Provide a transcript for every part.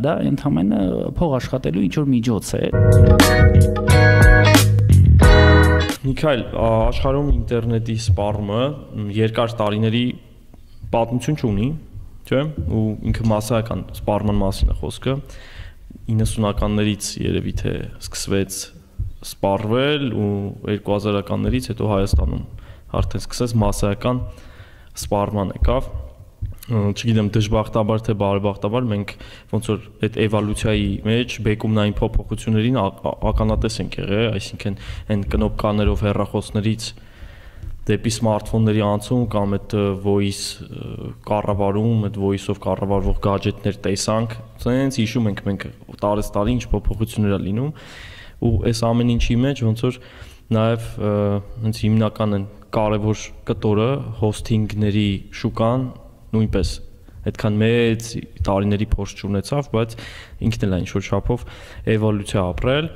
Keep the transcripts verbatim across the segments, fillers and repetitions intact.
դա ընդհանրապես փող աշխատելու ինչ որ միջոց է։ Միքայել, աշխարհում ինտերնետի սպառումը երկար տարիների պատմություն չունի, չէ՞, ու ինքը massայական սպառման մասին է խոսքը։ իննսունականներից երևի թե սկսվեց սպառվել ու երկու հազարականներից հետո Հայաստանում արդեն սկսեց massայական սպառման եկավ։ Չգիտեմ դժբախտաբար թե բարեբախտաբար մենք ոնց որ այդ էվոլյուցիայի մեջ բեկումնային փոփոխություններին ականատես ենք եղել, այսինքն այն կնոպկաներով հեռախոսներից դեպի սմարթֆոնների անցում կամ այդ voice կառավարում, այդ voice-ով կառավարվող գadgetներ տեսանք, ցենց հիշում ենք մենք տարեց տարի ինչ փոփոխություններ ա լինում ու այս ամեն ինչի մեջ ոնց որ նաև հենց հիմնական են կարևոր կտորը հոսթինգների շուկան նույնպես այդքան մեծ տարիների փորձ չունեցավ, բայց ինքն էլ է ինչ-որ չափով էվոլյուցիա ապրել,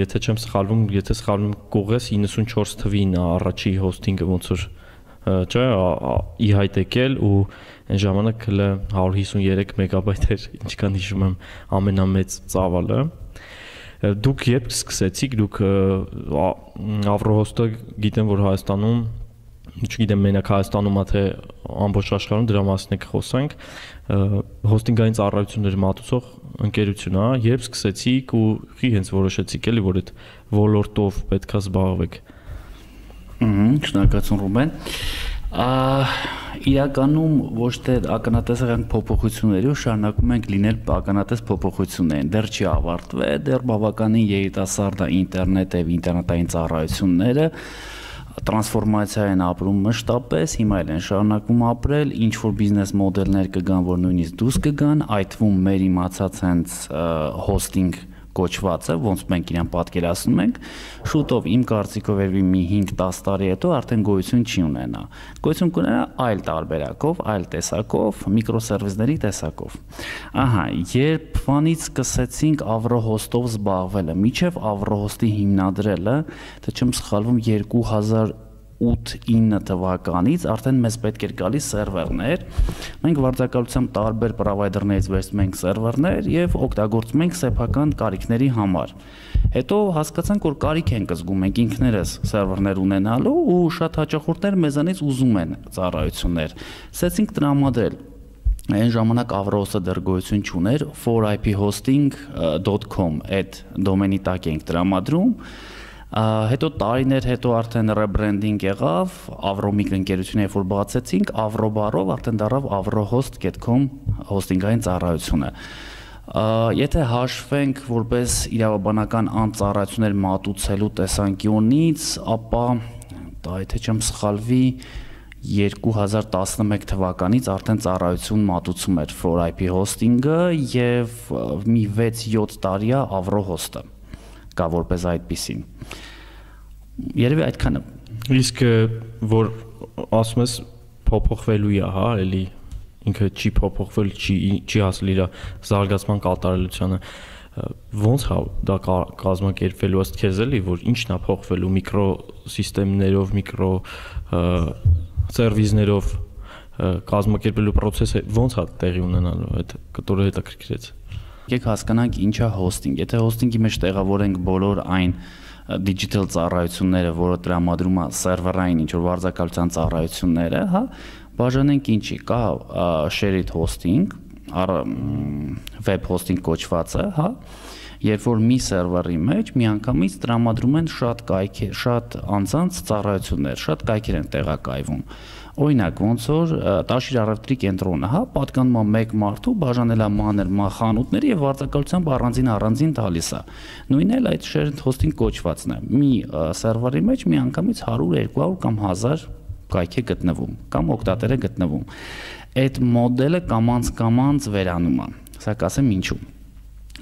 եթե չեմ սխալվում, եթե սխալվում կողես իննսունչորս թվին առաջի հոսթինգը ոնց որ չէ, ի հայտ եկել ու այն ժամանակ հələ հարյուր հիսունյոթ մեգաբայթ էր, ինչքան հիշում եմ, ամենամեծ ծավալը։ Դուք երբ սկսեցիք, դուք Avrohost-ը գիտեմ, որ Հայաստանում չգիտեմ մենակ Հայաստանում թե ամբողջ աշխարհում դրա մասին եք խոսենք, հոսթինգային ծառայություններ մատուցող ընկերություն է, երբ սկսեցիք ու խի հենց որոշեցիք էլի, որ այդ ոլորտով պետքա զբաղվեք։ Ահա, շնորհակալություն Ռուբեն։ Իրականում ոչ թե ականատեսական փոփոխությունների ու շարունակում ենք լինել ականատես փոփոխություններին, դեռ չի ավարտվել, դեռ բավականին երիտասարդ է ինտերնետը եւ ինտերնետային ծառայությունները տրանսֆորմացիա են ապրում մշտապես, հիմա էլ են շարունակում ապրել, ինչ որ բիզնես մոդելներ կգան, որ նույնիսկ դուրս կգան, այդ թվում մեր իմացած հենց հոսթինգ կոչվածը, ոնց մենք իրան պատկերացնում ենք, շուտով իմ կարծիքով երևի մի հինգ-դաս տարի հետո արդեն գոյություն չի ունենա։ Գոյություն կունենա այլ տարբերակով, այլ տեսակով, միկրոսերվիսների տեսակով։ Ահա, երբ վանից սկսեցինք Avrohost-ով զբաղվելը, միջև Avrohost-ի հիմնադրելը, թե չեմ սխալվում երկու հազար ութ ինը թվականից արդեն մեզ պետք էր գալիս սերվերներ, մենք վարձակալությամբ տարբեր պրովայդերներից վերցնում ենք սերվերներ եւ օգտագործում ենք սեփական կարիքների համար։ Հետո հասկացանք, որ կարիք ենք զգում մենք ինքներս սերվերներ ունենալու ու շատ հաճախորդներ մեզանից ուզում են ծառայություններ։ Սկսեցինք տրամադրել Այն ժամանակ Avrohost-ը դեռ գոյություն չուներ, four I P hosting dot com այդ դոմենի տակ ենք տրամադրում։ Հետո տարիներ հետո արդեն ռեբրենդինգ եղավ, Avromic ընկերությունը երբ որ բացեցինք, Avrobar-ով արդեն դառավ avrohost dot com հոսթինգային ծառայությունը։ Եթե հաշվենք որպես իրավաբանական անծառայություններ մատուցելու տեսանկյունից, ապա դա եթե չեմ սխալվի երկու հազար տասնմեկ թվականից արդեն ծառայություն մատուցում էր four I P հոսթինգը եւ մի վեց-յոթ տարի է Avrohost-ը կա որպես այդպիսին։ Երևի այդքանը։ Իսկ որ ասում ես փոփոխվելու է, հա, էլի ինքը չի փոփոխվել, չի չի հասել իր զարգացման կատարելությանը։ Ոնց հա դա կազմակերպվելու ըստ քեզ էլի, որ ինչն է փոխվելու միկրոսիստեմներով, միկրո սերվիսներով կազմակերպելու process-ը ոնց է տեղի ունենալու, այդ կտորը հետաքրքրեց։ Եկեք հասկանանք ինչ է հոսթինգ։ Եթե հոսթինգի մեջ տեղավորենք բոլոր այն digital ծառայությունները, որը տրամադրում է սերվերային ինչ որ վարձակալության ծառայությունները, հա, բաժանենք ինչի, կա shared hosting, web hosting կոչվածը, հա, երբ որ մի սերվերի մեջ միանգամից տրամադրում են շատ կայքեր, շատ անձանց ծառայություններ, շատ կայքեր են տեղակայվում։ Օրինակ, ոնց որ Տաշիր առևտրի կենտրոնը, հա, պատկանում է մեկ մարդու, բաժանել է մանր խանութների եւ վարձակալությամբ առանձին առանձին տալիս է։ Նույնն էլ այդ shared hosting կոչվածն է։ Մի սերվերի մեջ միանգամից հարյուր, երկու հարյուր կամ հազար կայք է գտնվում, կամ օգտատեր է գտնվում։ Այդ մոդելը կամանց-կամանց վերանում է։ Սա կասեմ ինչու։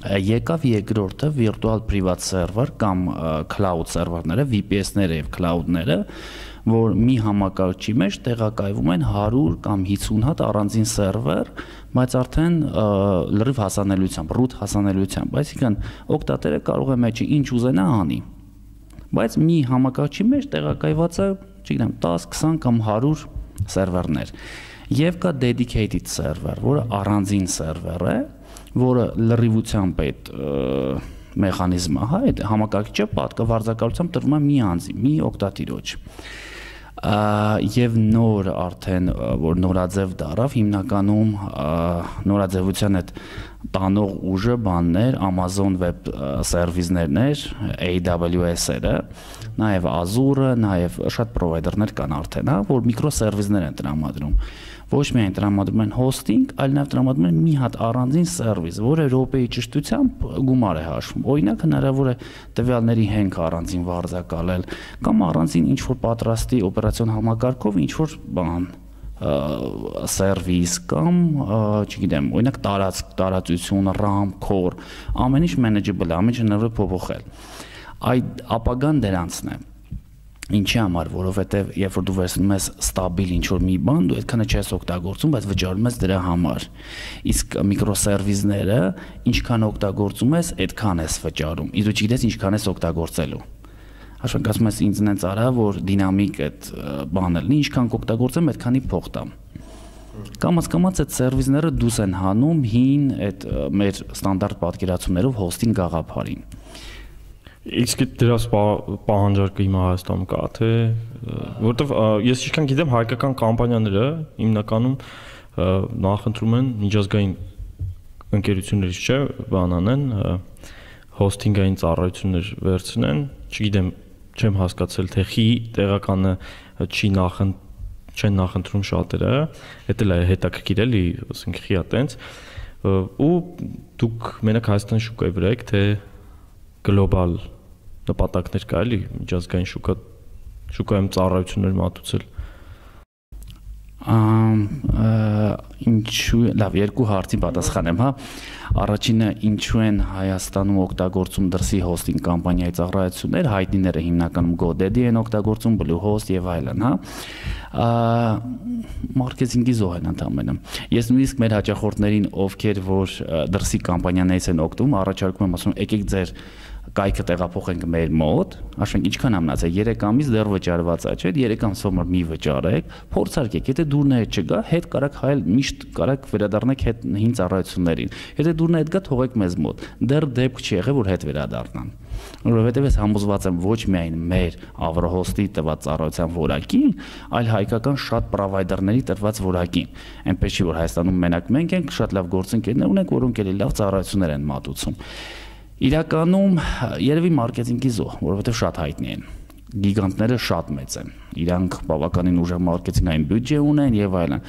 Եկավ երկրորդը virtual private server կամ cloud server-ները, V P S-ները եւ cloud-ները, որ մի համակարգչի մեջ տեղակայվում են հարյուր կամ հիսուն հատ առանձին սերվեր, բայց արդեն լրիվ հասանելիությամբ, root հասանելիությամբ, այսինքն օգտատերը կարող է մեջը ինչ ուզենա անի։ Բայց մի համակարգչի մեջ տեղակայված է, չգիտեմ, դես, քսան կամ հարյուր սերվերներ։ Եվ կա dedicated server, որը առանձին սերվեր է, որը լրիվությամբ այդ մեխանիզմը, հա, այդ համակարգիչը պատկա վարձակալությամբ տրվում է մի անձի, մի օգտատիրոջ։ Եվ նոր արդեն որ նորաձև դարավ հիմնականում նորաձևության այդ տանող ուժը բաններ Amazon Web Service-ներն էր, A W S-երը, նաև Azure-ը, նաև շատ պրովայդերներ կան արդեն, հա, որ միկրոսերվիսներ են տրամադրում։ Ոչ միայն տրամադրում են hosting, այլ նաև տրամադրում են մի հատ առանձին սերվիս, որը րոպեի ճշտությամբ գումար է հաշվում։ Օրինակ հնարավոր է տվյալների հենք առանձին վարձակալել կամ առանձին ինչ որ պատրաստի օպերացիոն համակարգով ինչ որ բան սերվիս կամ չգիտեմ, օրինակ տարածք, տարածություն, RAM, core, ամեն ինչ manageable է, ամեն ինչ հնարավոր է փոփոխել։ Այդ ապագան դրանցն է։ Ինչի համար, որովհետև երբ որ դու վերցնում ես ստաբիլ ինչ-որ մի բան, դու այդքանը չես օգտագործում, բայց վճարում ես դրա համար։ Իսկ միկրոսերվիսները ինչքան օգտագործում ես, այդքան ես վճարում։ Իսկ դու չգիտես ինչքան ես օգտագործելու։ Հաշվենք ասում ես ինձ նենց արա, որ դինամիկ այդ բանը լինի, ինչքան կօգտագործեմ, այդքանի փող տամ։ Կամաց-կամաց այդ սերվիսները դուրս են հանում հին այդ մեր ստանդարտ պատկերացումներով հոստինգ գաղափարին։ Իսկ դրա պահանջարկը հիմա Հայաստանում կա, թե որովհետև ես ինչքան գիտեմ հայկական կամպանիաները հիմնականում նախընտրում են միջազգային ընկերություններից, չէ, բան անեն, հոստինգային ծառայություններ վերցնեն, չգիտեմ, չեմ հասկացել, թե խի տեղականը չի նախըն չեն նախընտրում շատերը, դա էլ է հետաքրքիր էլի, ասենք խիա տենց, ու դուք մենակ Հայաստանի շուկայի վրա եք, թե գլոբալ նպատակներ կա էլի միջազգային շուկա շուկայում ծառայություններ մատուցել։ Ինչու, լավ, երկու հարցին պատասխանեմ, հա։ Առաջինը ինչու են Հայաստանում օգտագործում դրսի հոստինգ կամպանիայի ծառայություններ, հայտնիները հիմնականում GoDaddy են օգտագործում, Bluehost եւ այլն, հա։ Մարքեթինգի զոհ են ընդամենը։ Ես նույնիսկ մեր հաճախորդներին, ովքեր որ դրսի կամպանիաներից են օգտվում, առաջարկում եմ ասում, եկեք ձեր կայքը տեղափոխենք մեր մոտ, ասենք ինչքան ամնաց է երեք ամիս դեռ վճարված է, չէ՞, երեք ամսով մոտ մի վճարեք, փորձարկեք, եթե դուրն է չգա, հետ կարակ հայել միշտ կարակ վերադառնեք հետ հին ծառայություններին։ Եթե դուրն է հետ գա, թողեք մեզ մոտ։ Դեռ դեպք չի եղել, որ հետ վերադառնան։ Որովհետև ես համոզված եմ ոչ միայն մեր Avrohost-ի տված ծառայության որակին, այլ հայկական շատ պրովայդերների տրված որակին։ Այնպես չի որ Հայաստանում մենակ մենք ենք, շատ լավ գործընկերներ ունենք, որոնք էլի լավ ծառայություններ են մատուցում։ Իրականում երևի մարքեթինգի զոհ, որովհետև շատ հայտնի են։ Գիգանտները շատ մեծ են։ Իրանք բավականին ուժեղ մարքեթինգային բյուջե ունեն եւ այլն,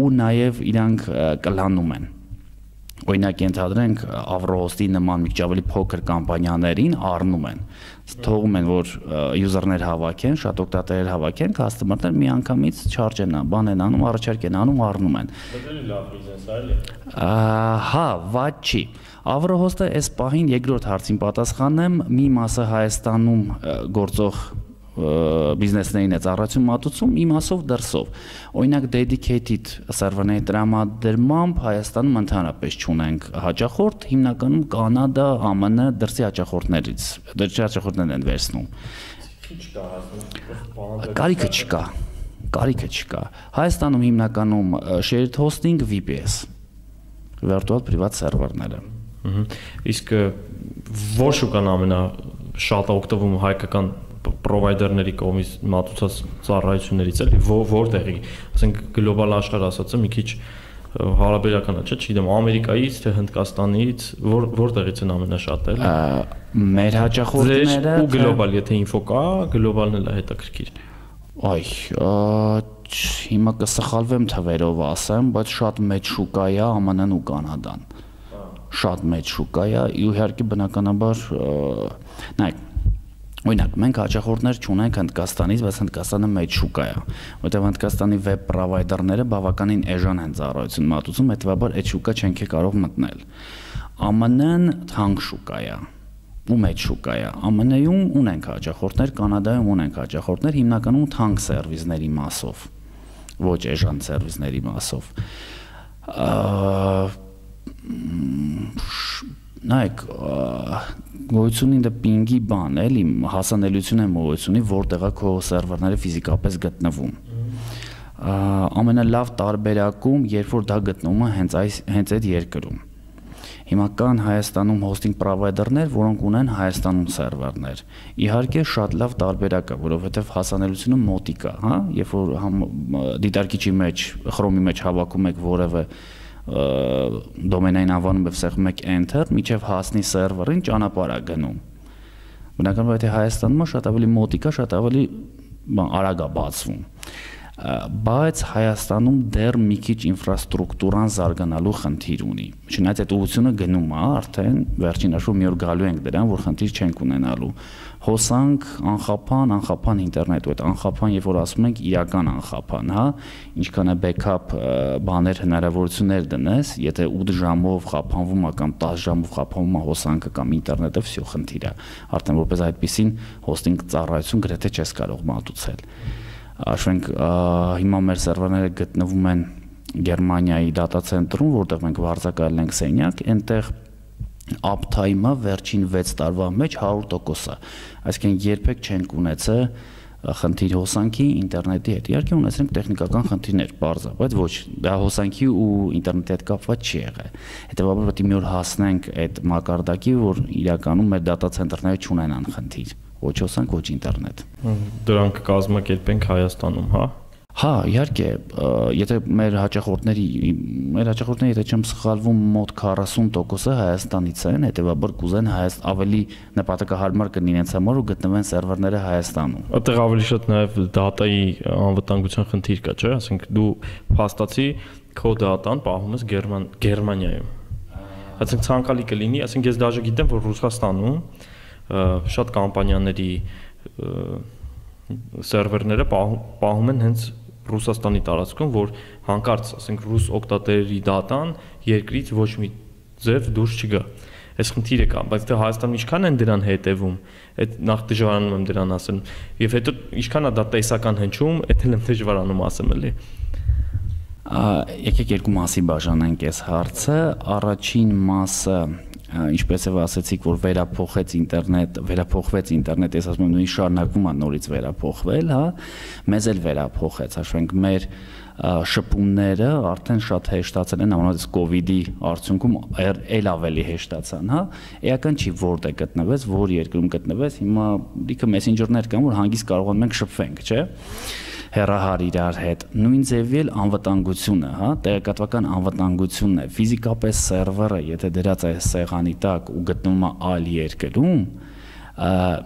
ու նաեւ իրանք կլանում են։ Օրինակ ենթադրենք Avrohost-ի նման մի քիչ ավելի փոքր կամպանիաներին առնում են։ Թողում են որ user-ներ հավաքեն, շատ օգտատերեր հավաքեն, customer-ներ մի անգամից charge են անում, բան են անում, առաջարկ են անում, առնում են։ Դա էլ լավ բիզնես է, էլի։ Հա, վատ չի։ Avrohost-ը այս պահին երկրորդ հարցին պատասխանեմ, մի մասը Հայաստանում գործող բիզնեսներին է ծառայություն մատուցում, մի մասով դրսով։ Օրինակ dedicated սերվերների տրամադրմամբ Հայաստանում ընդհանրապես չունենք հաճախորդ, հիմնականում Կանադա, Α M N դրսի հաճախորդներից, դրսի հաճախորդներն են վերցնում։ Ինչ կա Հայաստանում։ Կարիքը չկա, կարիքը չկա։ Հայաստանում հիմնականում shared hosting, V P S, virtual private server-ները։ Իսկ որ շուկան ամենաշատ օգտվում հայկական պրովայդերների կողմից մատուցած ծառայություններից էլի որտեղի, ասենք գլոբալ աշխարհ ասածը մի քիչ հարաբերական է, չէ՞, չգիտեմ, Ամերիկայից թե Հնդկաստանից, որ որտեղից են ամենաշատը էլի։ Մեր հաճախորդները ու գլոբալ, եթե ինֆո կա, գլոբալն էլ է հետաքրքիր։ Այ, հիմա կսխալվեմ թվերով ասեմ, բայց շատ մեծ շուկա է Α M N-ն ու Կանադան։ Շատ մեծ շուկա է, իհարկե բնականաբար, նայեք, օրինակ մենք հաճախորդներ չունենք Հնդկաստանից, բայց Հնդկաստանը մեծ շուկա է, որտեղ Հնդկաստանի վեբ պրովայդերները բավականին էժան են ծառայություն մատուցում, հետեւաբար այդ շուկա չենք կարող մտնել։ Α M N-ն թանկ շուկա է, ու մեծ շուկա է։ Α M N-ում ունենք հաճախորդներ, Կանադայում ունենք հաճախորդներ, հիմնականում թանկ սերվիսների մասով, ոչ էժան սերվիսների մասով։ Նայեք, գոյություն ունի պինգի բան, էլի հասանելիություն է գոյություն ունի, որտեղ է քո սերվերները ֆիզիկապես գտնվում։ Ամենալավ տարբերակում, երբ որ դա գտնվում է հենց այս հենց այդ երկրում։ Հիմա կան Հայաստանում hosting provider-ներ, որոնք ունեն Հայաստանում սերվերներ։ Իհարկե շատ լավ տարբերակ է, որովհետև հասանելիությունը մոտիկ է, հա, երբ որ դիտարկիչի մեջ, Chrome-ի մեջ հավաքում եք որևէ դոմենային անվանում եւ սեղմում եք enter, միջև հասնի սերվերին ճանապարհ է գնում։ Բնականաբար եթե Հայաստանում շատ ավելի մոտիկ է, շատ ավելի արագ է բացվում։ Բայց Հայաստանում դեռ մի քիչ ինֆրաստրուկտուրան զարգանալու խնդիր ունի։ Չնայած այդ ուղղությունը գնում է, արդեն վերջին հաշվով մի օր գալու ենք դրան, որ խնդիր չենք ունենալու։ Հոսանք, անխափան, անխափան ինտերնետ, ու այդ անխափան, երբ որ ասում ենք իրական անխափան, հա, ինչքան է backup բաներ հնարավորություններ դնես, եթե ութ ժամով խափանվում է կամ տասը ժամով խափանվում է հոսանքը կամ ինտերնետը, всё խնդիր է։ Արդեն որպես այդպեսին հոստինգ ծառայություն գրեթե չես կարող մատուցել։ Աշխենք հիմա մեր սերվերները գտնվում են Գերմանիայի դատա ցենտրում, որտեղ մենք վարձակալել ենք սենյակ, այնտեղ uptime-ը վերջին վեց տարվա մեջ հարյուր տոկոս է։ Այսինքն երբեք չենք ունեցել խնդիր հոսանքի ինտերնետի հետ։ Իհարկե ունեցենք տեխնիկական խնդիրներ, բարձր, բայց ոչ, դա հոսանքի ու ինտերնետի հետ կապված չի եղել։ Հետևաբար պետք է մի օր հասնենք այդ մակարդակի, որ իրականում մեր դատա ցենտրները չունենան խնդիր։ Ոչ հոսանք, ոչ ինտերնետ։ Դրանք կազմակերպենք Հայաստանում, հա։ Հա, իհարկե, եթե մեր հաճախորդների, մեր հաճախորդների, եթե չեմ սխալվում, մոտ քառասուն տոկոսը Հայաստանից են, հետևաբար կուզեն Հայաստան ավելի նպատակահարմար կլինի իրենց համար ու գտնվեն սերվերները Հայաստանում։ Այդտեղ ավելի շատ նաև դատայի անվտանգության խնդիր կա, չէ՞, ասենք դու փաստացի քո դատան պահում ես Գերմանիայում։ Այսինքն ցանկալի կլինի, ասենք ես դաժե գիտեմ, որ Ռուսաստանում շատ կամպանիաների սերվերները պահում են հենց Ռուսաստանի տարածքում, որ հանկարծ, ասենք, ռուս օգտատերերի դատան երկրից ոչ մի ձև դուրս չգա։ Այս խնդիրը կա, բայց դե Հայաստանում ինչքան են դրան հետևում, այդ նախ դժվարանում եմ դրան ասել, եւ հետո ինչքան է դա տեսական հնչում, այդ էլ եմ դժվարանում ասեմ էլի։ Եկեք երկու մասի բաժանենք այս հարցը, առաջին մասը ինչպես եւ ասացիք, որ վերափոխեց ինտերնետ, վերափոխվեց ինտերնետ, ես ասում եմ նույնիսկ շարունակվում է նորից վերափոխվել, հա, մեզ էլ վերափոխեց, հաշվենք մեր շփումները արդեն շատ հեշտացել են, ամենից կովիդի արդյունքում էլ ավելի հեշտացան, հա, էական չի որտեղ գտնվեց, որ երկրում գտնվեց, հիմա լիքը մեսենջերներ կան, որ հանգիստ կարողանում ենք շփվենք, չէ՞։ Հեռահար իրար հետ, նույն ձևի էլ անվտանգությունը, հա, տեղեկատվական անվտանգությունն է, ֆիզիկապես սերվերը, եթե դրած է սեղանի տակ ու գտնվում է այլ երկրում,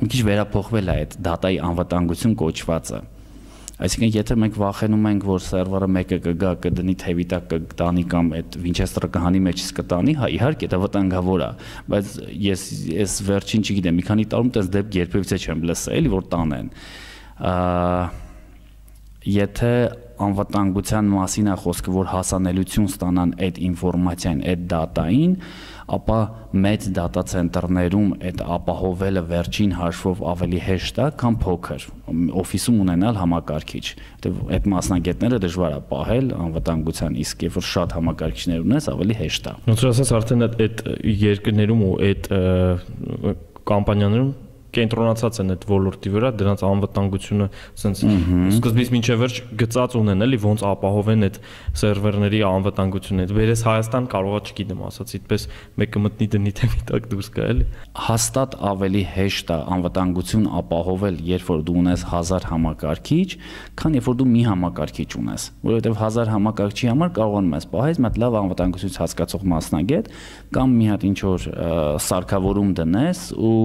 մի քիչ վերափոխվել է այդ դատայի անվտանգություն կոչվածը։ Այսինքն, եթե մենք վախենում ենք, որ սերվերը մեկը կգա, կդնի թևի տակ կտանի կամ այդ Winchester-ը կհանի մեջից կտանի, հա, իհարկե դա վտանգավոր է, բայց ես ես վերջին չգիտեմ, մի քանի տարում տես դեպք երբևիցե չեմ լսել, էլի որ տանեն։ Եթե անվտանգության մասին է խոսքը, որ հասանելիություն ստանան այդ ինֆորմացիային, այդ դատային, ապա մեծ դատա ցենտրներում այդ ապահովելը վերջին հաշվով ավելի հեշտ է, քան փոքր օֆիսում ունենալ համակարգիչ։ Այդ մասնագետները դժվար է պահել անվտանգության, իսկ երբ որ շատ համակարգիչներ ունես, ավելի հեշտ է։ Ոնց ասած, արդեն այդ երկրներում ու այդ կամպանիաներում կենտրոնացած են այդ ոլորտի վրա, դրանց անվտանգությունը ասենց սկզբից մինչև վերջ գծած ունեն, էլի ոնց ապահովեն այդ սերվերների անվտանգությունը։ Վերես Հայաստան կարողա չգիտեմ, ասած այդպես մեկը մտնի դնի թեմի տակ դուրս գա, էլի։ Հաստատ ավելի հեշտ է անվտանգություն ապահովել, երբ որ դու ունես հազար համակարգիչ, քան երբ որ դու մի համակարգիչ ունես, որովհետև հազար համակարգչի համար կարողանում ես պահել մի հատ լավ անվտանգություն հասկացող մասնագետ կամ մի հատ ինչ որ սարքավորում դնես ու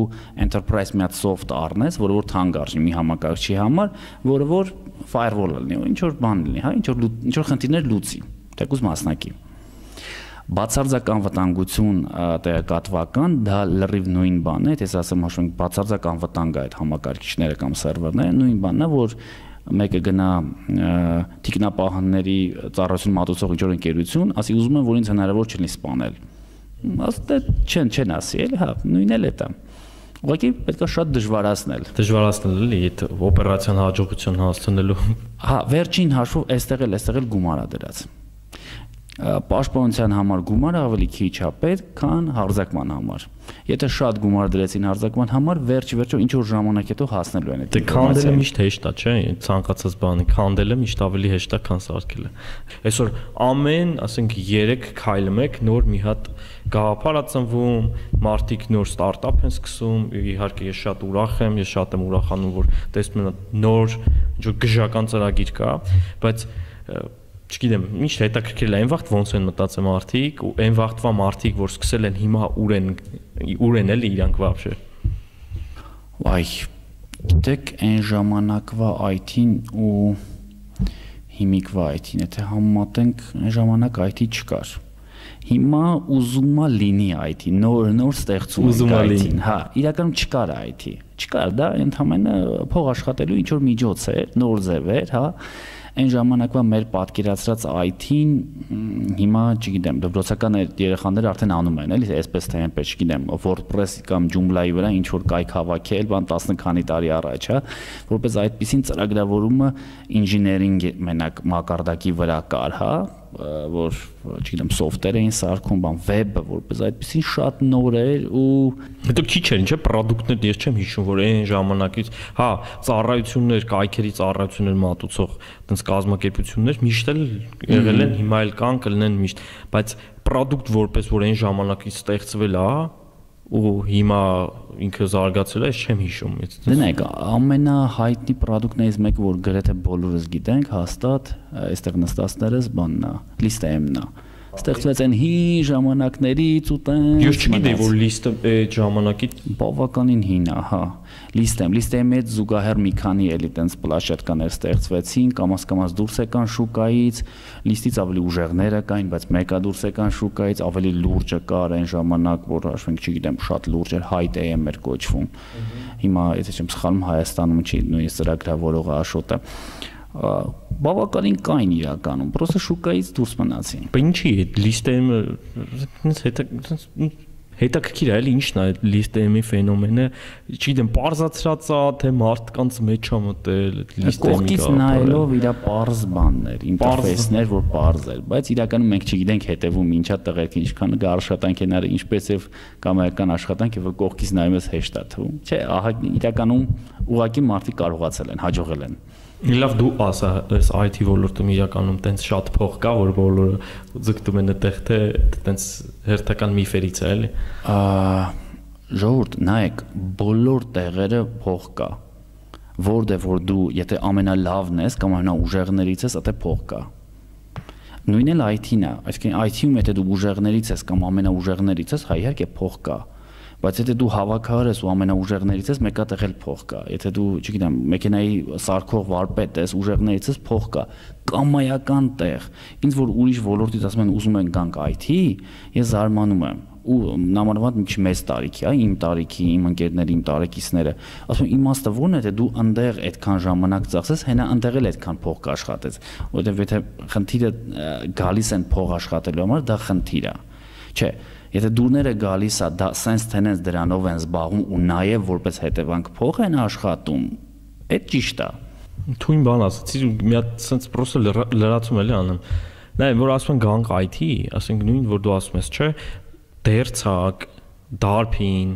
enterprise մի հատ soft առնես, որը որ թանկ արժի մի համակարգչի համար, որը որ firewall լինի, ինչ որ բան լինի, հա, ինչ որ ինչ որ խնդիրներ լուծի, թեկուզ մասնակի։ Բացարձակ անվտանգություն տեղեկատվական դա լրիվ նույն բանն է, ես ասեմ հաշվենք բացարձակ անվտանգ է այդ համակարգիչները կամ սերվերները, նույն բանն է, որ մեկը գնա թիկնապահանների ծառայություն մատուցող ինչ որ ընկերություն, ասի ուզում եմ, որ ինձ հնարավոր չլինի սպանել։ Ասե չեն չեն ասի, էլի հա, նույնն էլ է դա։ Ուղղակի պետք է շատ դժվարացնել։ Դժվարացնել էլի այդ օպերացիան հաջողության հասցնելու։ Հա, վերջին հաշվով այստեղ էլ այստեղ էլ գումար է դրած։ Պաշտպանության համար գումարը ավելի քիչ է պետք, քան հարձակման համար։ Եթե շատ գումար դրեցին հարձակման համար, վերջ վերջո ինչ որ ժամանակ հետո հասնելու են այդ ինֆորմացիան։ Դե քանդելը միշտ հեշտ է, չէ՞, ցանկացած բանի քանդելը միշտ ավելի հեշտ է, քան սարքելը։ Այսօր ամեն, ասենք երեք քայլը մեկ նոր մի հատ գաղափար է ծնվում, մարդիկ նոր ստարտափ են սկսում, իհարկե ես շատ ուրախ եմ, ես շատ եմ ուրախանում, որ տեսնում եմ նոր ինչ որ գժական ծրագիր կա, բայց չգիտեմ, միշտ հետաքրքրել է այն վաղտ ոնց են մտածում մարդիկ ու այն վաղտվա մարդիկ, որ սկսել են հիմա ուր են ուր են էլի իրանք вообще։ Այ գիտեք, այն ժամանակվա այ թին ու հիմիկվա այ թին, եթե համեմատենք, այն ժամանակ այ թի չկար։ Հիմա ուզում է լինի այ թի, նոր նոր ստեղծում է այ թին, հա, իրականում չկար այ թի։ Չկար, դա ընդհանրապես փող աշխատելու ինչ որ միջոց էր, նոր ձև էր, հա։ Այն ժամանակվա մեր պատկերացրած այ թին հիմա, չգիտեմ, դպրոցական երեխաները արդեն անում են, էլի, այսպես թե այնպես, չգիտեմ, WordPress կամ Joomla-ի վրա ինչ որ կայք հավաքել, բան տասը քանի տարի առաջ, հա, որպես այդպեսին ծրագրավորումը ինժեներինգ մենակ մակարդակի վրա կար, հա, որ չգիտեմ սոֆտվեր էին սարքում, բան վեբը որպես այդպեսին շատ նոր էր ու հետո քիչ էր, չէ՞, պրոդուկտներ, ես չեմ հիշում, որ այն ժամանակից, հա, ծառայություններ, կայքերի ծառայություններ մատուցող այդպես կազմակերպություններ միշտ էլ եղել են, հիմա էլ կան, կլինեն միշտ, բայց պրոդուկտ որպես որ այն ժամանակից ստեղծվել է ու հիմա ինքը զարգացել է, ես չեմ հիշում։ Դնեք, ամենահայտնի պրոդուկտներից մեկը, որ գրեթե բոլորս գիտենք, հաստատ այստեղ նստածներս բանն է, ListM-ն է։ Ստեղծվեց այն հին ժամանակներից ու տենց։ Ես չգիտեի, որ լիստը այդ ժամանակից բավականին հին է, հա։ ListM, ListM-ի հետ զուգահեռ մի քանի էլի տենց պլաշետկաներ ստեղծվեցին, կամաց-կամաց դուրս եկան շուկայից, լիստից ավելի ուժեղները կային, բայց մեկը դուրս եկան շուկայից, ավելի լուրջը կար այն ժամանակ, որ հաշվենք, չգիտեմ, շատ լուրջ էր, HiTM էր կոչվում։ Հիմա, եթե չեմ սխալվում, Հայաստանում չի նույնիսկ ծրագրավորողը Աշոտը։ Բավականին կային իրականում, պրոստը շուկայից դուրս մնացին։ Բայց ինչի՞ է ListM-ը հետա հետաքրքիր է, էլի ինչն է այդ ListM-ի ֆենոմենը, չգիտեմ, պարզացրած է, թե մարդկանց մեջ է մտել ListM-ի կողքից նայելով իր պարզ բաններ, ինտերֆեյսներ, որ պարզ էր, բայց իրականում մենք չգիտենք հետևում ինչա տղերք ինչքան աշխատանք են արել, ինչպես եւ կամայական աշխատանք եւ որ կողքից նայում ես հեշտ է թվում։ Չէ, ահա իրականում ուղղակի մարդիկ կարողացել են, հաջողել են։ Լավ դու ասա, այս այ թի ոլորտում իրականում տենց շատ փող կա, որ բոլորը ձգտում են այդտեղ, թե տենց հերթական միֆերից է, էլի։ Ժողովուրդ, նայեք, բոլոր տեղերը փող կա։ Որտեղ որ դու, եթե ամենալավն ես կամ ամենաուժեղներից ես, այդտեղ փող կա։ Նույնն էլ այ թին է, այսինքն այ թի-ում եթե դու ուժեղներից ես կամ ամենաուժեղներից ես, հա իհարկե փող կա։ Բայց եթե դու հավաքահար ես ու ամենաուժեղներից ես, մեկա տեղ էլ փող կա։ Եթե դու, չգիտեմ, մեքենայի սարքող վարպետ ես, ուժեղներից ես, փող կա։ Կամայական տեղ։ Ինձ որ ուրիշ ոլորտից ասում են ուզում են գանք այ թի, ես զարմանում եմ։ Ու նամանավանդ մի քիչ մեծ տարիքի, այ իմ տարիքի, իմ ընկերների, իմ տարեկիցները, ասում եմ իմաստը ո՞րն է, թե դու այնտեղ այդքան ժամանակ ծախսես, հենա այնտեղ էլ այդքան փող կաշխատես, որովհետև եթե խնդիրը գալիս են փող աշխատելու համար, դա խնդիր է։ Չէ, եթե դուրները գալիս է, դա sense tenants դրանով են զբաղվում ու նաև որպես հետևանք փող են աշխատում, այդ ճիշտ է։ Թույն բան ասացի, մի հատ sense պրոսը լրացում էլի անում։ Նայ, որ ասում են գանք այ թի, ասենք նույն որ դու ասում ես, չէ, դերցակ, դարփին,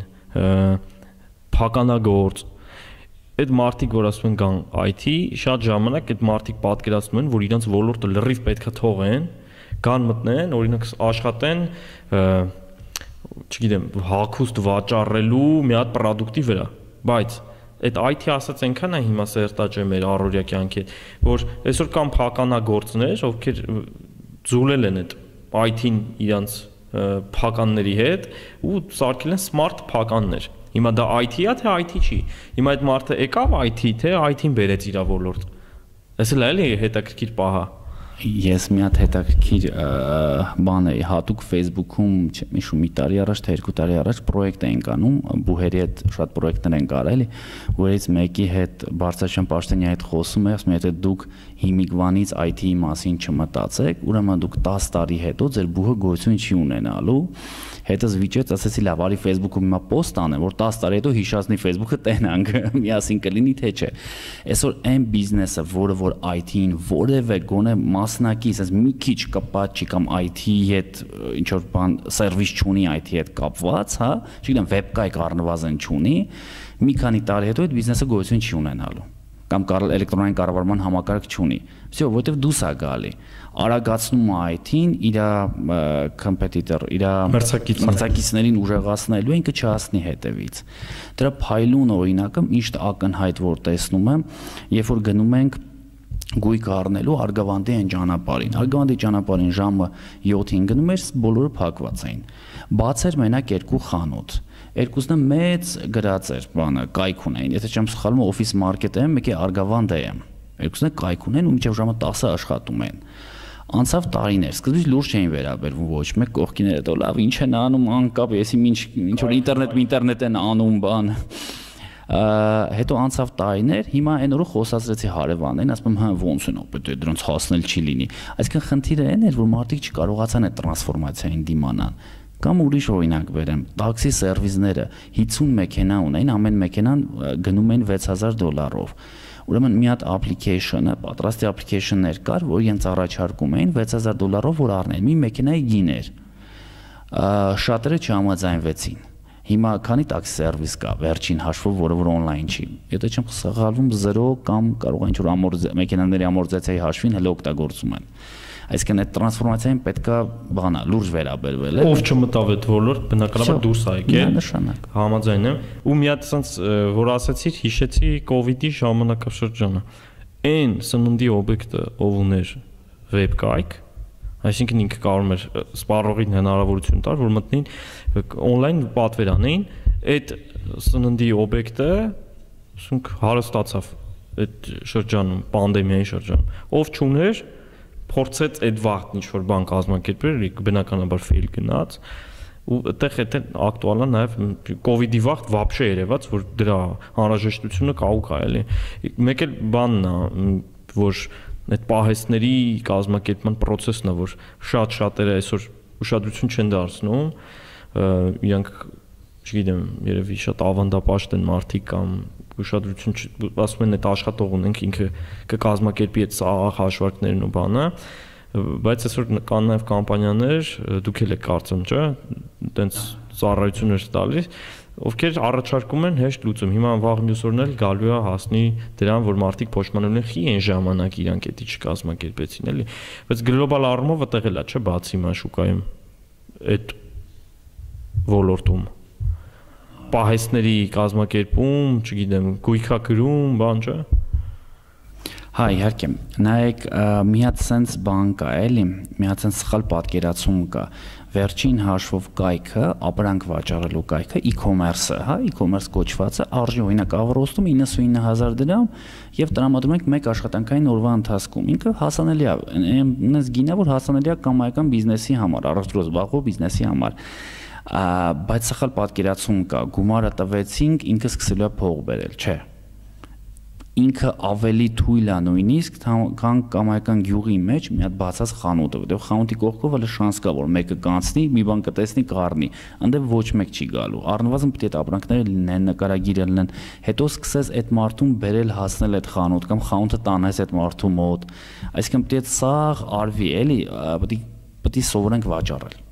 փականագործ, այդ մարդիկ որ ասում են գան այ թի, շատ ժամանակ այդ մարդիկ պատկերացնում են, որ իրենց ոլորտը լրիվ պետքա թողեն, կան մտնեն, օրինակ աշխատեն, չգիտեմ, հագուստ վաճառելու մի հատ պրոդուկտի վրա, բայց այդ այ թի ասած այնքան է հիմա սերտաճ է մեր առօրյա կյանքի, որ այսօր կան փականագործներ, ովքեր ձուլել են այդ այ թին իրանց փականների հետ ու սարքել են smart փականներ։ Հիմա դա այ թի է, թե այ թի չի։ Հիմա այդ մարդը եկավ այ թի, թե այ թին բերեց իր ոլորտ։ Էսը լա էլի հետաքրքիր պահա։ Ես մի հատ հետաքրքիր բան էի հատուկ Facebook-ում, չեմ հիշում, մի տարի առաջ թե երկու տարի առաջ պրոյեկտ էինք անում, բուհերի հետ շատ պրոյեկտներ ենք արել, որից մեկի հետ Բարձրաշեն Պաշտենյանի հետ խոսում եմ, ասում եմ, եթե դուք հիմիկվանից այ թի-ի մասին չմտածեք, ուրեմն դուք տասը տարի հետո ձեր բուհը գոյություն չի ունենալու։ Հետս վիճեց, ասեցի լավ, արի Facebook-ում հիմա post անեմ, որ տասը տարի հետո հիշացնի Facebook-ը տենանք, միասին կլինի թե չէ։ Այսօր այն բիզնեսը, որը որ այ թի-ին որևէ գոնե մասնակից, այս մի քիչ կապած չի կամ I T հետ ինչ որ բան սերվիս չունի I T հետ կապված, հա, չգիտեմ, վեբկայք առնվազն չունի, մի քանի տարի հետո այդ բիզնեսը գոյություն չի ունենալու կամ էլեկտրոնային կառավարման համակարգ չունի։ Всё, որովհետև դուս է գալի։ Արագացնում է I T-ին, իր competitor, իր մրցակիցներին ուժեղացնելու է, ինքը չհասնի հետևից։ Դրա փայլուն օրինակը միշտ ակնհայտ որ տեսնում եմ, երբ որ գնում ենք գույք առնելու Արգավանդի այն ճանապարհին։ Արգավանդի ճանապարհին ժամը յոթին գնում էր, բոլորը փակված էին։ Բաց էր մենակ երկու խանութ։ Երկուսն է մեծ գրած էր, բանը կայք ունեին։ Եթե չեմ սխալվում, օֆիս մարքետ եմ, մեկի Արգավանդ եմ։ Երկուսն է կայք ունեն ու մինչև ժամը տասը աշխատում են։ Անցավ տարիներ, սկզբից լուրջ չէին վերաբերվում ոչ մեկ կողքին հետո լավ ինչ են անում անկապ, եսի ինչ ինչ որ ինտերնետ ինտերնետ են անում բան։ Հետո անցավ տարիներ, հիմա այն օրը խոսացրեցի հարևաններին, ասում եմ, հա ոնց են ապետ դրանց հասնել չի լինի։ Այսինքն խնդիրը այն էր, որ մարդիկ չկարողացան այդ տրանսֆորմացիային դիմանալ։ Կամ ուրիշ օրինակ վերեմ, տաքսի սերվիսները հինգ մեքենա ունեն, ամեն մեքենան գնում են վեց հազար դոլարով։ Ուրեմն մի հատ application-ը, պատրաստի application-ներ կար, որ իրենց առաջարկում էին վեց հազար դոլարով որ առնեն։ Մի մեքենայի գին էր։ Շատերը չհամաձայնվեցին։ Հիմա քանի տաքսի սերվիս կա, վերջին հաշվով, որը որ on-line չի։ Եթե չեմ սխալվում զերո կամ կարող է ինչ-որ մեքենաների ամորտիզացիայի հաշվին հələ օգտագործում են։ Այսինքն այդ տրանսֆորմացիային պետքա բանա լուրջ վերաբերվել է։ Ով չմտավ այդ ոլորտ, բնականաբար դուրս է եկել։ Նշանակ։ Համաձայն եմ։ Ու մի հատ ասած, որ ասացիր, հիշեցի կոവിഡ്ի ժամանակաշրջանը։ Այն սննդի օբյեկտը, ով ուներ վեբկայք, այսինքն ինքը կարող էր սպառողին հնարավորություն տալ, որ մտնին on-line պատվեր անեին, այդ սննդի օբյեկտը ասենք հարստացավ այդ շրջանում, պանդեմիայի շրջանում։ Ով չուներ փորձեց այդ վաղտ ինչ-որ բան կազմակերպել, բնականաբար fail գնաց, ու այդտեղ այդ ակտուալ է նաև կոവിഡ്ի վաղտ вообще երևաց, որ դրա անհրաժեշտությունը կա ու կա էլի։ Մեկ էլ բանն է, որ այդ պահեստների կազմակերպման process-ն է, որ շատ շատերը այսօր ուշադրություն չեն դարձնում, իրանք, չգիտեմ, երևի շատ ավանդապաշտ են մարդիկ կամ ուշադրություն ասում են այդ աշխատող ունենք ինքը կկազմակերպի այդ սաղ հաշվարկներն ու բանը, բայց այսօր կան նաև կամպանիաներ, դուք էլ եք կարծում, չէ՞, այտենց ծառայություններ տալիս, ովքեր առաջարկում են հեշտ լուծում։ Հիմա վաղ մյուս օրն էլ գալու է հասնի դրան, որ մարդիկ փոշմանելու են խի այն ժամանակ իրանք էդի չկազմակերպեցին, էլի։ Բայց գլոբալ առումով այդտեղ էլ է, չէ՞, բացի մա շուկայում այդ ոլորտում պահեստների կազմակերպում, չգիտեմ, գույքագրում, բան չէ։ Հա, իհարկե։ Նայեք, մի հատ sense բան կա, էլի, մի հատ sense սխալ պատկերացում կա։ Վերջին հաշվով կայքը, ապրանք վաճառելու կայքը, e-commerce-ը, հա, e-commerce կոչվածը արժի օրինակ Ավրոստում իննսունինը հազար դրամ եւ տրամադրում ենք մեկ աշխատանքային օրվա ընթացքում։ Ինքը հասանելի է, այնպես գինա, որ հասանելի է կամայական բիզնեսի համար, առողջրոց զբաղվող բիզնեսի համար։ Բայց սխալ պատկերացում կա, գումարը տվեցինք, ինքը սկսելու է փող բերել, չէ։ Ինքը ավելի թույլ է նույնիսկ, քան կամայական գյուղի մեջ մի հատ բացած խանութը, որտեղ խանութի կողքով հələ շանս կա, որ մեկը կանցնի, մի բան կտեսնի, կառնի, այնտեղ ոչ մեկ չի գալու։ Առնվազն պետք է այդ ապրանքները լինեն, նկարագիրը լինեն, հետո սկսես այդ մարդուն բերել հասնել այդ խանութ կամ խանութը տանես այդ մարդու մոտ։ Այսինքն պետք է սաղ արվի, էլի, պետք է պետք է սովորենք վաճառել։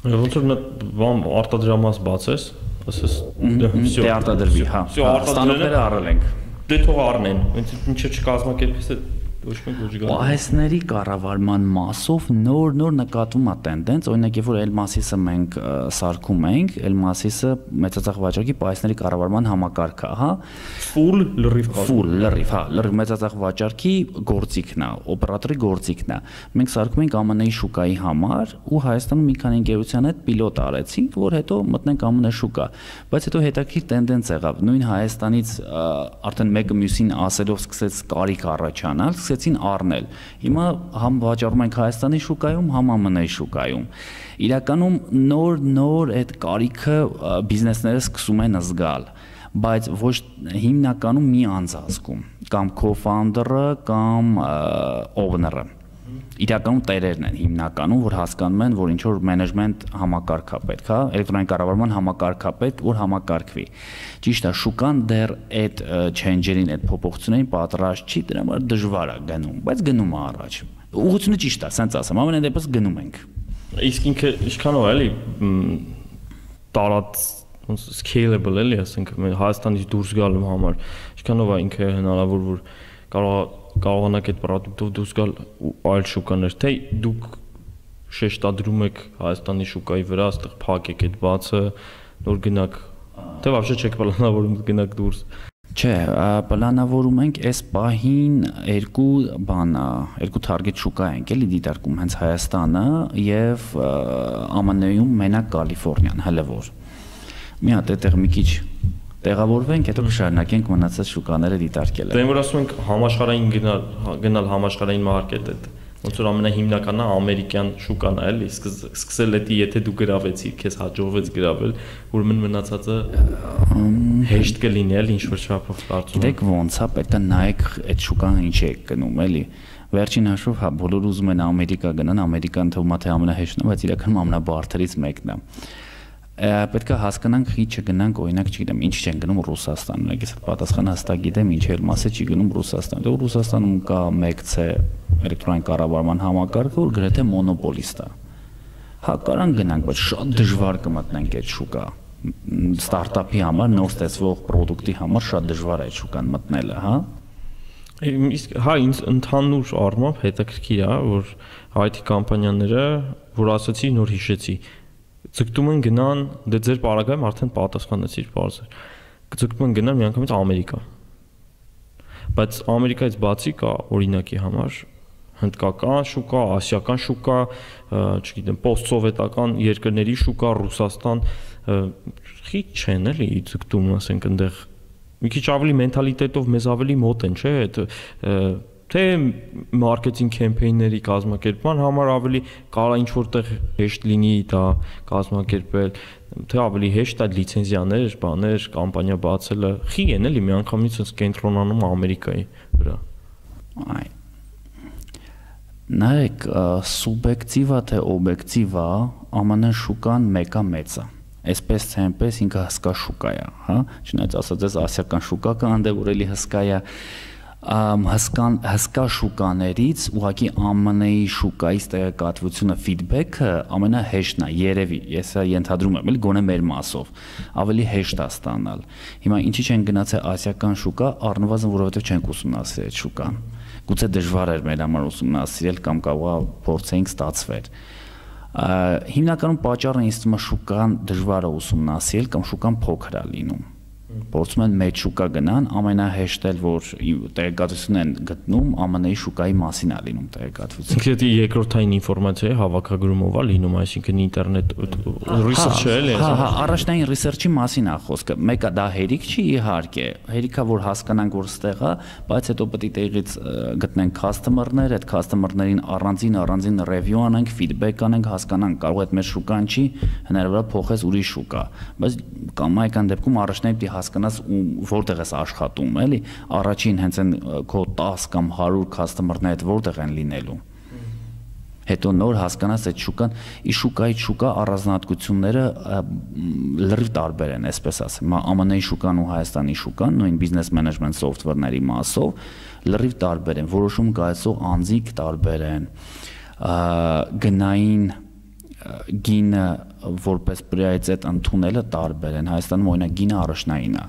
Ոնց որ բան արտադրամաս բացես, ասես դե արտադրվի, հա։ Ստանոքները առել ենք։ Դե թող առնեն, ինչը չկազմակերպես ոչ մեկ ոչ գա։ Պահեստների կառավարման մասով նոր-նոր նկատվում է տենդենց, օրինակ երբ որ Elmasisը մենք սարքում ենք, Elmasisը մեծածախ վաճառքի պահեստների կառավարման համակարգը, հա, full լրիվ full լրիվ, հա, լրիվ մեծածախ վաճառքի գործիքն է, օպերատորի գործիքն է։ Մենք սարքում ենք ԱՄՆ-ի շուկայի համար ու Հայաստանում մի քանի ընկերության հետ պիլոտ արեցինք, որ հետո մտնենք ԱՄՆ շուկա, բայց հետո հետաքրքիր տենդենց եղավ, նույն Հայաստանից արդեն մեկը մյուսին ասելով սկսեց կարիք առաջանալ, սկսեցին առնել։ Հիմա համ վաճառում ենք Հայաստանի շուկայում, համ ԱՄՆ-ի շուկայում։ Իրականում նոր-նոր այդ կարիքը բիզնեսները սկսում են զգալ, բայց ոչ հիմնականում մի անձ ազգում, կամ co-founder-ը, կամ owner-ը։ Իրականում տերերն են հիմնականում, որ հասկանում են, որ ինչ որ management համակարգ է պետք, հա, էլեկտրոնային կառավարման համակարգ է պետք, որ համակարգվի։ Ճիշտ է, շուկան դեռ այդ change-երին, այդ փոփոխություններին պատրաստ չի, դրա համար դժվար է գնում, բայց գնում է առաջ։ Ուղղությունը ճիշտ է, ասենց ասեմ, ամեն դեպս գնում ենք։ Իսկ ինքը ինչքանով է, էլի տարած ոնց scalable էլի, ասենք Հայաստանից դուրս գալու համար, ինչքանով է ինքը հնարավոր որ կարող կարողանաք այդ product-ով դուրս գալ այլ շուկաներ, թե դուք շեշտադրում եք Հայաստանի շուկայի վրա, այստեղ փակեք այդ բացը, նոր գնաք, թե вообще չեք պլանավորում գնաք դուրս։ Չէ, պլանավորում ենք այս պահին երկու բան, երկու target շուկա ենք էլի դիտարկում, հենց Հայաստանը եւ ԱՄՆ -ում մենակ Կալիֆոռնիան, հələ որ։ Մի հատ այդտեղ մի քիչ տեղավորվենք, հետո կշարունակենք մնացած շուկաները դիտարկելը։ Դե որ ասում ենք համաշխարհային գնալ, գնալ համաշխարհային մարքետ այդ ոնց որ ամենահիմնականն է ամերիկյան շուկան է, էլի, սկսել էդի, եթե դու գրավեցիր, քեզ հաջողվեց գրավել, ուրեմն մնացածը հեշտ կլինի, էլի, ինչ որ չափով կարծում եմ։ Գիտեք ոնց է, պետք է նայեք այդ շուկան ինչ է գնում, էլի։ Վերջին հաշվով, հա, բոլորը ուզում են Ամերիկա գնան, Ամերիկան թվում է թե ամենահեշտն է, բայց իրականում ամենաբարդերից մեկն է։ Պետք է հասկանանք, ի չգնանք, օրինակ, չգիտեմ, ինչ չեն գնում Ռուսաստան, ես պատասխանը հստակ գիտեմ, ինչ էլ մասը չի գնում Ռուսաստան։ Դե Ռուսաստանում կա մեկ C էլեկտրոնային կառավարման համակարգը, որ գրեթե մոնոպոլիստ է։ Հա, կարան գնանք, բայց շատ դժվար կմտնենք այդ շուկա։ Ստարտափի համար, նոր ստեղծվող product-ի համար շատ դժվար է այդ շուկան մտնելը, հա։ Իսկ հա, ինձ ընդհանուր առմամբ հետաքրքիր է, որ I T կամպանիաները, որ ասացի, նոր հիշեցի, ձգտում են գնան, դե ձեր պարագայում արդեն պատասխանեցիր բարձր։ Ձգտում են գնան միանգամից Ամերիկա։ Բայց Ամերիկայից բացի կա օրինակի համար հնդկական շուկա, ասիական շուկա, չգիտեմ, post-սովետական երկրների շուկա, Ռուսաստան, խի չեն էլի ձգտում, ասենք այնտեղ մի քիչ ավելի մենթալիտետով մեզ ավելի մոտ են, չէ՞, այդ թե մարքեթինգ կեմպեյնների կազմակերպման համար ավելի կարա ինչ որտեղ հեշտ լինի դա կազմակերպել, թե ավելի հեշտ է լիցենզիաներ, բաներ, կամպանիա բացելը, խի են էլի միանգամից sense կենտրոնանում Ամերիկայի վրա։ Այ նայեք, սուբյեկտիվա թե օբյեկտիվա ԱՄՆ շուկան մեկա մեծ է։ Այսպես թե այնպես ինքը հսկա շուկա է, հա, չնայած ասած ես ասիական շուկա կա, անդե որ էլի հսկա է, հսկան հսկա շուկաներից ուղղակի ԱՄՆ-ի շուկայից տեղեկատվությունը ֆիդբեքը ամենահեշտն է, երևի, ես ենթադրում եմ, էլի գոնե մեր մասով, ավելի հեշտ է ստանալ։ Հիմա ինչի չեն գնացել ասիական շուկա, առնվազն որովհետև չենք ուսումնասիրել այդ շուկան։ Գուցե դժվար էր մեր համար ուսումնասիրել կամ կարող փորձեինք ստացվեր։ Հիմնականում պատճառը ինձ թվում է շուկան դժվար է ուսումնասիրել կամ շուկան փոքր է լինում։ Փորձում են մեծ շուկա գնան, ամենահեշտ էլ որ տեղեկատվություն են գտնում ԱՄՆ-ի շուկայի մասին է լինում տեղեկատվություն։ Ինքը երկրորդային ինֆորմացիայի հավաքագրումով է լինում, այսինքն ինտերնետ research-ը էլ է։ Հա, հա, առաջնային research-ի մասին է խոսքը։ Մեկը դա հերիք չի իհարկե, հերիքա որ հասկանանք որ ստեղ է, բայց հետո պետք է տեղից գտնենք customer-ներ, այդ customer-ներին առանձին առանձին review անենք, feedback անենք, հասկանանք կարող է այդ մեր շուկան չի, հնարավոր է փոխես ուրիշ շուկա, բայց կամ այքան դեպքում առաջնային պիտի հասկանաս որտեղ ես աշխատում, էլի, առաջին հենց այն քո տասը կամ հարյուր customer-ները այդ որտեղ են լինելու։ Հետո նոր հասկանաս այդ շուկան, ի շուկայից շուկա առանձնահատկությունները լրիվ տարբեր են, այսպես ասեմ, ԱՄՆ-ի շուկան ու Հայաստանի շուկան, նույն business management software-ների մասով լրիվ տարբեր են, որոշում կայացող անձիկ տարբեր են, գնային գինը որպես պրիորիտետ ընդունելը տարբեր են։ Հայաստանում օրինակ գինը առաջնային է։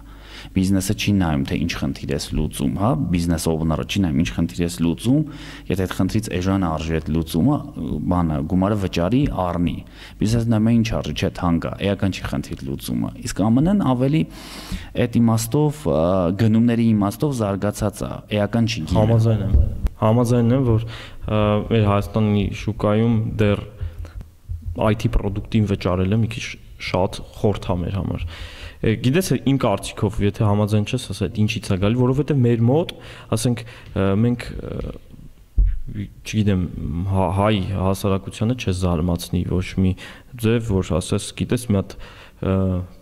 Բիզնեսը չի նայում թե ինչ խնդիր ես լուծում, հա, բիզնես օվները չի նայում ինչ խնդիր ես լուծում, եթե այդ խնդրից էժան արժի այդ լուծումը, բանը գումարը վճարի առնի։ Բիզնեսը նայում է ինչ արժի, չէ, թանկ է, էական չի խնդիր լուծումը։ Իսկ ԱՄՆ-ն ավելի այդ իմաստով գնումների իմաստով զարգացած է, էական չի գինը։ Համաձայն եմ։ Համաձայն եմ, որ մեր Հայաստանի շուկայում դեռ I T product-ին վճարելը մի քիչ շատ խորթ է մեր համար։ Գիտես, իմ կարծիքով, եթե համաձայն չես, ասա, ինչի՞ց է գալի, որովհետև մեր մոտ, ասենք, մենք, չգիտեմ, հայ հասարակությանը չես զարմացնի ոչ մի ձև, որ ասես, գիտես, մի հատ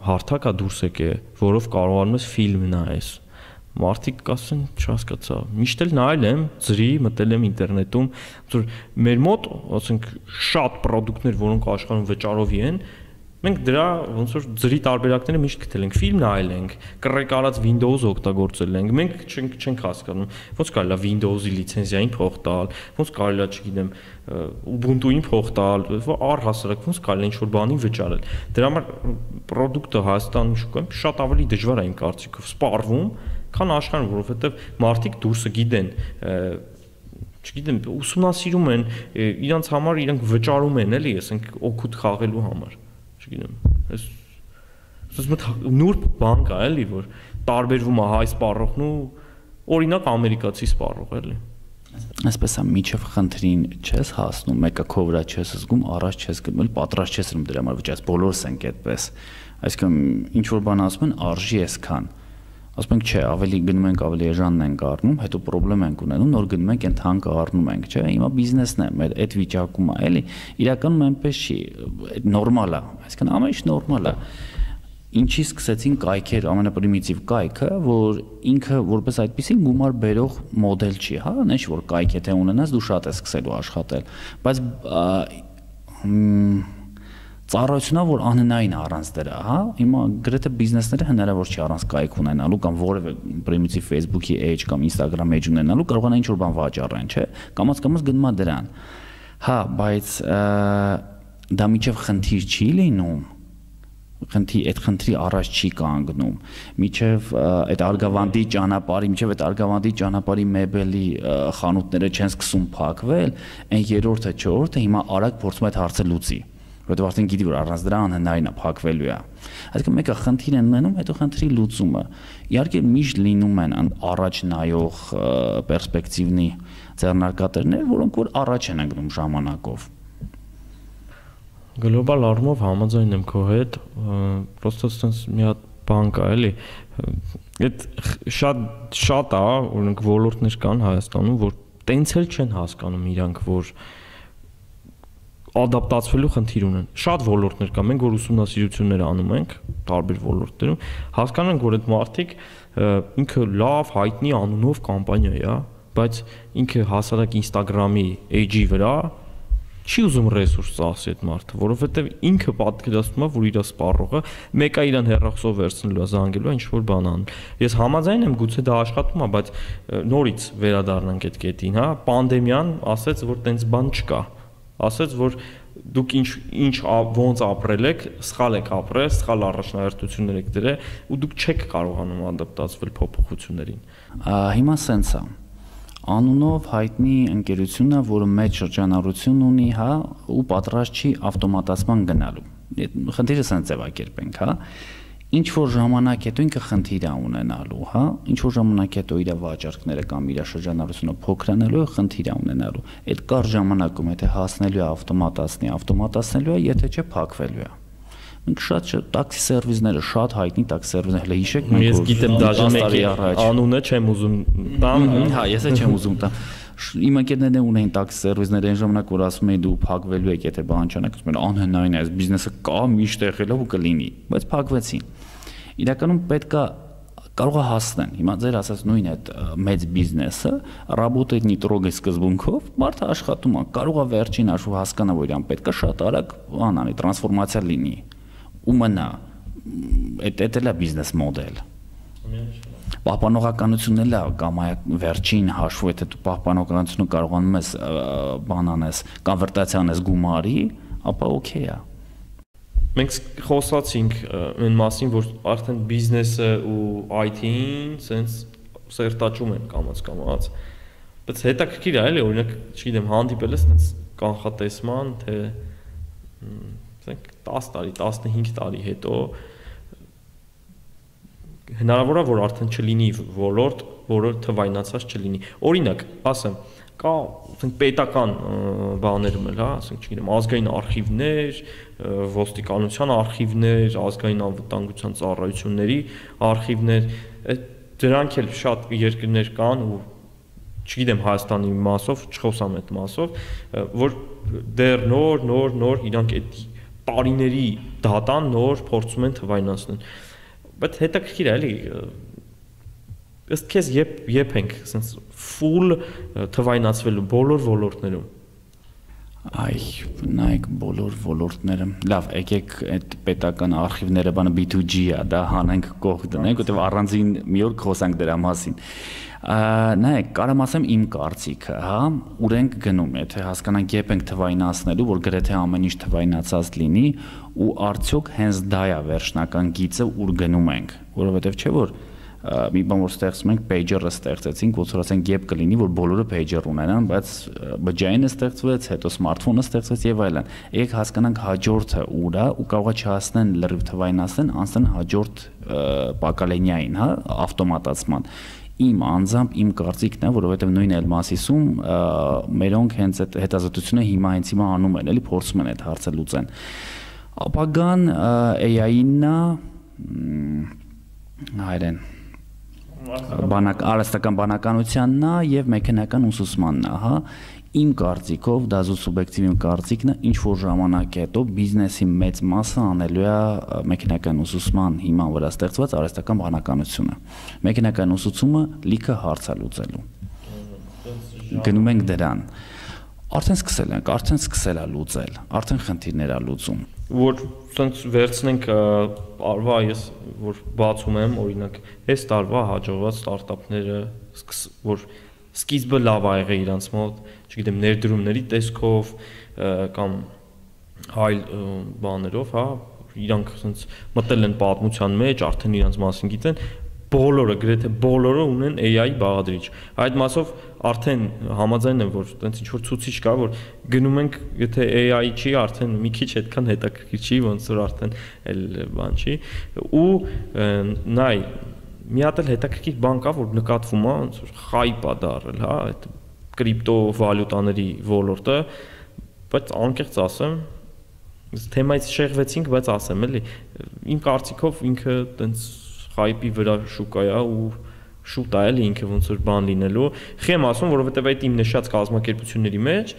հարթակ է դուրս եկե, որով կարողանում ես ֆիլմ նայես։ Մարդիկ կասեն, չհասկացա, միշտ էլ նայել եմ, ծրի, մտել եմ ինտերնետում, որ մեր մոտ, ասենք, շատ product-ներ, որոնք աշխարհում վճարովի են, Մենք դրա ոնց որ ձրի տարբերակները միշտ գտել ենք, ֆիլմ նայել ենք, կռեք արած Windows օգտագործել ենք, մենք չենք չենք հասկանում, ոնց կարելի է Windows-ի լիցենզիային փող տալ, ոնց կարելի է, չգիտեմ, Ubuntu-ին փող տալ, առհասարակ ոնց կարելի է ինչ-որ բանի վճարել։ Դրա համար product-ը Հայաստանի շուկայում շատ ավելի դժվար է իմ կարծիքով սպառվում, քան աշխարհում, որովհետև մարդիկ դուրսը գիտեն, չգիտեմ, ուսումնասիրում են, իրանց համար իրանք վճարում են, էլի, ասենք օգուտ խաղելու համար, չգիտեմ, այս ասես նուրբ բան կա, էլի, որ տարբերվում է հայ սպառողն ու օրինակ ամերիկացի սպառող, էլի։ Այսպես է, միջև խնդրին չես հասնում, մեկը քո վրա չես զգում, առաջ չես գնում, պատրաստ չես ըրում դրա համար վճարես, բոլորս ենք այդպես։ Այսինքն ինչ որ բան ասում են, արժի այսքան։ Ասում ենք, չէ, ավելի գնում ենք, ավելի էժանն ենք առնում, հետո խնդրեմ ենք ունենում, նոր գնում ենք, այն թանկը առնում ենք, չէ, հիմա բիզնեսն է, մեր այդ վիճակում է, էլի, իրականում այնպես չի, նորմալ է, այսինքն ամեն ինչ նորմալ է։ Ինչի սկսեցին կայքեր, ամենապրիմիտիվ կայքը, որ ինքը որպես այդպեսի գումար բերող մոդել չի, հա, նեշ որ կայք եթե ունենաս, դու շատ ես սկսելու աշխատել, բայց ծառայությունա, որ անհնարին առանց դրա, հա, հիմա գրեթե բիզնեսները հնարավոր չի առանց կայք ունենալու կամ որևէ պրիմիտիվ Facebook-ի էջ կամ Instagram էջ ունենալու, կարող են ինչ-որ բան վաճառեն, չէ, կամաց-կամաց գնում է դրան։ Հա, բայց դա միջև խնդիր չի լինում, խնդրի այդ խնդրի առաջ չի կանգնում, միջև այդ Արգավանդի ճանապարհի, միջև այդ Արգավանդի ճանապարհի մեբելի խանութները չեն սկսում փակվել, այն երրորդը, չորրորդը հիմա արագ փորձում է այդ հարցը լուծի, որովհետև արդեն գիտի, որ առանց դրա անհնարին է փակվելու է։ Այսինքն մեկը խնդիր են ունենում, հետո խնդրի լուծումը։ Իհարկե միշտ լինում են առաջ նայող պերսպեկտիվնի ձեռնարկատերներ, որոնք որ առաջ են ընկնում ժամանակով։ Գլոբալ առումով համաձայն եմ քո հետ, պրոստը sense մի հատ բան կա, էլի։ Այդ շատ շատ է, օրինակ ոլորտներ կան Հայաստանում, որ տենց էլ չեն հասկանում իրանք, որ ադապտացվելու խնդիր ունեն։ Շատ ոլորտներ կա, մենք որ ուսումնասիրություններ անում ենք տարբեր ոլորտներում, հասկանում ենք, որ այդ մարդիկ ինքը լավ հայտնի անունով կամպանիա է, բայց ինքը հասարակ Instagram-ի էջի վրա չի ուզում ռեսուրս ծախսի այդ մարդը, որովհետև ինքը պատկերացնում է, որ իր սպառողը մեկը իրան հեռախոսով վերցնելու է, զանգելու է, ինչ-որ բան անում։ Ես համաձայն եմ, գուցե դա աշխատում է, բայց նորից վերադառնանք այդ կետին, հա, պանդեմիան ասեց, որ տենց բան չկա, ասեց, որ դուք ինչ ինչ ոնց ապրել եք, սխալ եք ապրել, սխալ առաջնահերթություններ եք դրել ու դուք չեք կարողանում ադապտացվել փոփոխություններին։ Հիմա սենց է։ Անունով հայտնի ընկերությունը, որը մեծ շրջանառություն ունի, հա, ու պատրաստ չի ավտոմատացման գնալու։ Խնդիրը սենց ձևակերպենք, հա։ Ինչ որ ժամանակ հետո ինքը խնդիր է ունենալու, հա, ինչ որ ժամանակ հետո իր վաճառքները կամ իր շրջանառությունը փոքրանալու է, խնդիր է ունենալու։ Այդ կար ժամանակում եթե հասնելու է ավտոմատացնի, ավտոմատացնելու է, եթե չէ փակվելու է։ Մենք շատ տաքսի սերվիսները, շատ հայտնի տաքսի սերվիսներ, հիշեք, մենք ես գիտեմ դաժե մեկի անունը չեմ ուզում տամ, հա, ես էլ չեմ ուզում տամ։ Իմ ընկերներն ունեին տաքսի սերվիսներ այն ժամանակ, որ ասում էին դու փակվելու եք, եթե բան չանեք, ասում են անհնարին է, այս բիզնեսը կա, միշտ եղել է ու կլինի, բայց փակվեցին։ Իրականում պետքա կարող է հասնեն։ Հիմա ձեր ասած նույն այդ մեծ բիզնեսը, ռաբոտետնի տրոգի սկզբունքով մարդը աշխատում է, կարող է վերջին հաշվով հասկանա, որ իրան պետքա շատ արագ բան անի, տրանսֆորմացիա լինի։ Ու մնա, այդ էլ է բիզնես մոդել։ Պահպանողականությունն էլ է կամ վերջին հաշվով, եթե դու պահպանողականությունը կարողանում ես բան անես, կոնվերտացիա անես գումարի, ապա օքեյ է։ Մենք խոսացինք այն մասին, որ արդեն բիզնեսը ու այ թի-ին սենց սերտաճում են կամաց-կամաց, բայց հետաքրքիր է, էլի, օրինակ, չգիտեմ, հանդիպել ես սենց կանխատեսման, թե ասենք տասը տարի, տասնհինգ տարի հետո հնարավոր է, որ արդեն չլինի ոլորտ, որը թվայնացած չլինի։ Օրինակ, ասեմ, կա ասենք պետական բաներում էլ, հա, ասենք, չգիտեմ, ազգային արխիվներ, ոստիկանության արխիվներ, ազգային անվտանգության ծառայությունների արխիվներ, դրանք էլ շատ երկրներ կան ու չգիտեմ Հայաստանի մասով, չխոսամ այդ մասով, որ դեռ նոր, նոր, նոր իրանք այդ տարիների դատան նոր փորձում են թվայնացնել։ Բայց հետաքրքիր է, էլի, ըստ քեզ երբ երբ ենք sense full թվայնացվելու բոլոր ոլորտներում։ Այ, նայեք բոլոր ոլորտները։ Լավ, եկեք այդ պետական արխիվները բանը B two G-ա, դա հանենք կողք դնենք, որտեղ առանձին մի օր խոսանք դրա մասին։ Նայեք, կարամ ասեմ իմ կարծիքը, հա, ուր ենք գնում, եթե հասկանանք երբ ենք թվայնացնելու, որ գրեթե ամեն ինչ թվայնացած լինի, ու արդյոք հենց դա է վերջնական գիծը, ուր գնում ենք, որովհետև չէ որ մի բան որ ստեղծում ենք pager-ը ստեղծեցինք, ոնց որ ասենք երբ կլինի, որ բոլորը pager ունենան, բայց բջջայինը ստեղծվեց, հետո սմարթֆոնը ստեղծվեց եւ այլն։ Եկեք հասկանանք հաջորդը ուր է ու կարողա չհասնեն լրիվ թվայնացնեն, անցնեն հաջորդ պակալենիային, հա, ավտոմատացման։ Իմ անձամբ իմ կարծիքն է, որովհետեւ նույն Elmasisում մերոնք հենց այդ հետազոտությունը հիմա հենց հիմա անում են, էլի փորձում են այդ հարցը լուծեն։ Ապագան A I-ն է, հայրեն բանակ արհեստական բանականությանն է եւ մեխանիկական ուսուցմանն է, հա։ Իմ կարծիքով, դա զուտ սուբյեկտիվ իմ կարծիքն է, ինչ որ ժամանակ հետո բիզնեսի մեծ մասը անելու է մեխանիկական ուսուցման հիման վրա ստեղծված արհեստական բանականությունը։ Մեխանիկական ուսուցումը լիքը հարց է լուծելու։ Գնում ենք դրան։ Արդեն սկսել ենք, արդեն սկսել է լուծել, արդեն խնդիրներ է լուծում։ Որ ցենց վերցնենք արվա ես որ բացում եմ օրինակ այս տարվա հաջողված ստարտափները որ սկիզբը լավ ա եղել իրանց մոտ, չգիտեմ, ներդրումների տեսքով կամ այլ բաներով, հա, իրանք ցենց մտել են պատմության մեջ, արդեն իրանց մասին գիտեն, բոլորը, գրեթե բոլորը ունեն A I բաղադրիչ։ Այդ մասով արդեն համաձայն եմ, որ տենց ինչ որ ցուցիչ կա, որ գնում ենք, եթե A I չի, արդեն մի քիչ այդքան հետաքրքիր չի, ոնց որ արդեն էլ բան չի, ու նայ մի հատ էլ հետաքրքիր բան կա, որ նկատվում է, ոնց որ խայպ է դարել, հա, այդ կրիպտովալյուտաների ոլորտը, բայց անկեղծ ասեմ, թեմայից շեղվեցինք, բայց ասեմ էլի, իմ կարծիքով ինքը տենց խայպի վրա շուկա է ու շուտ է էլի ինքը ոնց որ բան լինելու։ Խեմ ասում, որովհետև այդ իմ նշած կազմակերպությունների մեջ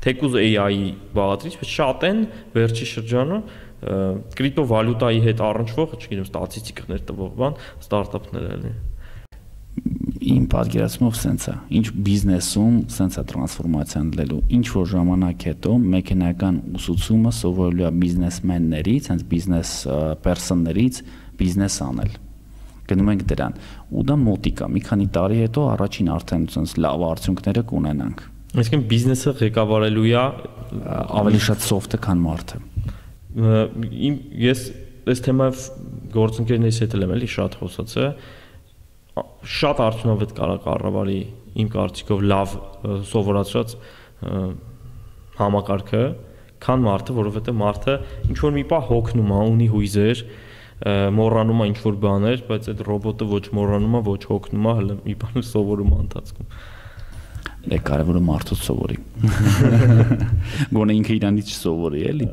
թեկուզ A I-ի բաղադրիչ, բայց շատ են վերջի շրջանում կրիպտովալյուտայի հետ առնչվող, չգիտեմ, ստատիստիկներ տվող բան, ստարտափներ էլի։ Իմ պատկերացումով սենց է, ինչ բիզնեսում սենց է տրանսֆորմացիան լինելու, ինչ որ ժամանակ հետո մեխանիկական ուսուցումը սովորելու է բիզնեսմեններից, հենց բիզնես պերսոններից բիզնես անել։ Գնում ենք դրան, ու դա մոտիկ է, մի քանի տարի հետո առաջին արդեն սենց լավ արդյունքները կունենանք։ Այսինքն բիզնեսը ղեկավարելու է ավելի շատ սոֆտը, քան մարդը։ Իմ ես այս թեմայով գործընկերներից հետ եմ էլի շատ խոսացել, շատ արդյունավետ կարա կառավարի իմ կարծիքով լավ սովորացրած համակարգը, քան մարդը, որովհետև մարդը ինչ որ մի պահ հոգնում է, ունի հույզեր, մոռանում է ինչ որ բաներ, բայց այդ ռոբոտը ոչ մոռանում է, ոչ հոգնում է, հələ մի բան սովորում է ընթացքում։ Դե կարևորը մարդուց սովորի։ Գոնե ինքը իրանից չսովորի, էլի։